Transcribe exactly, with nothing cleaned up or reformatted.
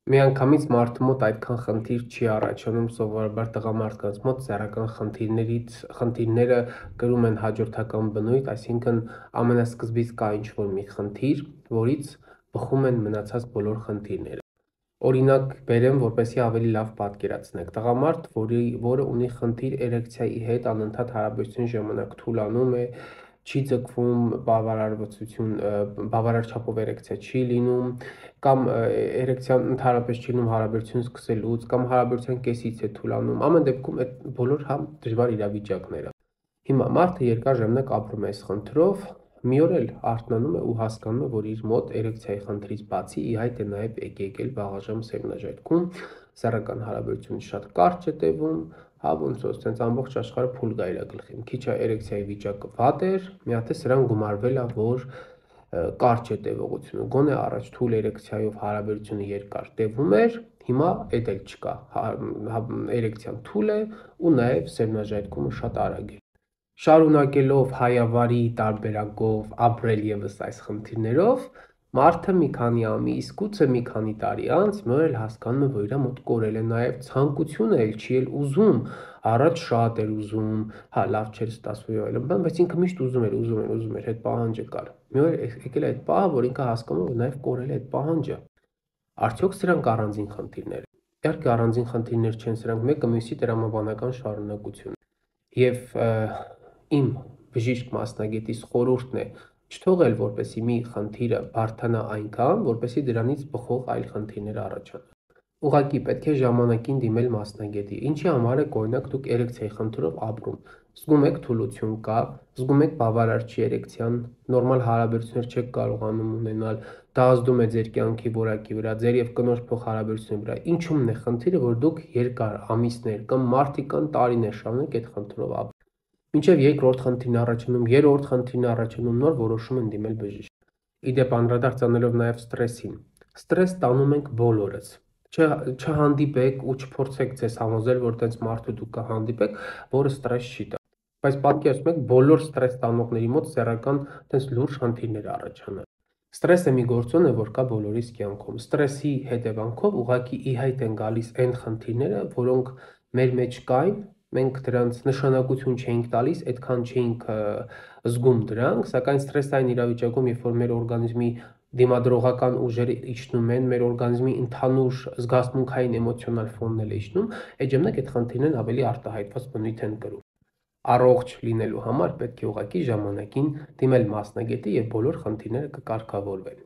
Միանգամից մարդու մոտ այդքան խնդիր չի առաջանում, սովորաբար տղամարդկանց մոտ սեռական խնդիրներից խնդիրները կրում են հաջորդական բնույթ, այսինքն ամենասկզբից կա ինչ-որ մի խնդիր, որից բխում են մնացած բոլոր խնդիրները։ Օրինակ բերեմ, որպեսզի ավելի լավ պատկերացնեք։ Տղամարդ, որի որը ունի խնդիր էրեկցիայի հետ, անընդհատ հարաբերության ժամանակ թուլանում է, չի ձգվում, բավարարվածություն, բավարար չափով էրեկցիա չի լինում, կամ էրեկցիան ընդհանրապես չի լինում հարաբերություն սկսելուց, կամ հարաբերության կեսից է թուլանում, ամեն դեպքում այդ բոլոր համ դժվար իրավիճակները։ Հիմա մարդը երկար ժամանակ ապրում է այս խնդրով, մի օր էլ արթնանում է ու հասկանում է, որ իր մոտ էրեկցիայի խնդրից բացի ի հայտ է նաև եկել վաղաժամ սերմնաժայթքում, սեռական հարաբերությունը շատ կարճ է տևում, հա ոնց որ sense ամբողջ աշխարհը փուլ գա իր գլխին։ Քիչ է էրեկցիայի վիճակը վատ էր, մի հատ է սրան գումարվել է, որ կարճ է տևողությունը։ Գոնե առաջ թույլ էրեկցիայով հարաբերությունը երկար տևում էր, հիմա էդ էլ չկա։ Էրեկցիան թույլ է ու նաև սերմնաժայթքումը շատ արագ է։ Շարունակելով հայավարի տարբերակով ապրել եւս այս խնդիրներով, մարդը մի քանի ամիս, գուցե մի քանի տարի անց մի օր էլ հասկանում է, որ իր մոտ կորել է նաև ցանկությունը, էլ չի էլ ուզում, առաջ շատ էր ուզում, հա լավ չէր ստացվում եւ այլն, բայց ինքը միշտ ուզում էր, ուզում էր, ուզում էր, այդ պահանջը կար։ Մի օր եկել է այդ պահը, որ ինքը հասկանում է, որ նաև կորել է այդ պահանջը։ Արդյոք սրանք առանձին խնդիրներ են։ Իհարկե առանձին խնդիրներ չեն, սրանք մեկը մյուսի տրամաբանական շարունակություն է։ Եվ իմ բժիշկ մասնագետիս խորհուրդն է չթողել, որպեսզի մի խնդիրը բարդանա այնքան, որպեսզի դրանից բխող այլ խնդիրներ առաջանան։ Ուղղակի պետք է ժամանակին դիմել մասնագետի։ Ինչի համար է օրինակ դուք էրեկցիայի խնդրով ապրում։ Զգում եք թուլություն կա, զգում եք բավարար չի էրեկցիան, նորմալ հարաբերություններ չեք կարողանում ունենալ, դա ազդում է ձեր կյանքի որակի վրա, ձեր եւ կնոջ փոխհարաբերությունների վրա։ Ինչումն է խնդիրը, որ դուք երկար ամիսներ կամ մարդիկ կան տարիներ շարունակ այդ խնդրով ապրում։ Մինչև երկրորդ խնդիրն առաջանում, երրորդ խնդիրն առաջանում, նոր որոշում են դիմել բժիշկ։ Իդեպ անդրադարձանելով նաև ստրեսին։ Ստրես տանում ենք բոլորս։ Չհանդիպեք ու չփորձեք ձեզ համոզել, որ տենց մարդու դուք կհանդիպեք, որը ստրես չի տա։ Բայց պատկերացնում եք, բոլոր ստրես տանողների մոտ սեռական տենց լուրջ խնդիրներ առաջանան։ Ստրեսը մի գործոն է, որ կա բոլորիս կյանքում։ Ստրեսի հետևանքով ուղղակի ի հայտ են գալիս այն խնդիրները, որոնք մեր մեջ կային, մենք դրանց նշանակություն չէինք տալիս, այդքան չէինք զգում դրանք, սակայն ստրեսային իրավիճակում, երբ որ մեր օրգանիզմի դիմադրողական ուժերը իջնում են, մեր օրգանիզմի ընդհանուր զգացմունքային էմոցիոնալ ֆոնն էլ իջնում, այդ ժամանակ այդ խնդիրներն ավելի արտահայտված բնույթ են կրում։ Առողջ լինելու համար պետք է ուղղակի ժամանակին դիմել մասնագետի եւ բոլոր խնդիրները կկարգավորվեն։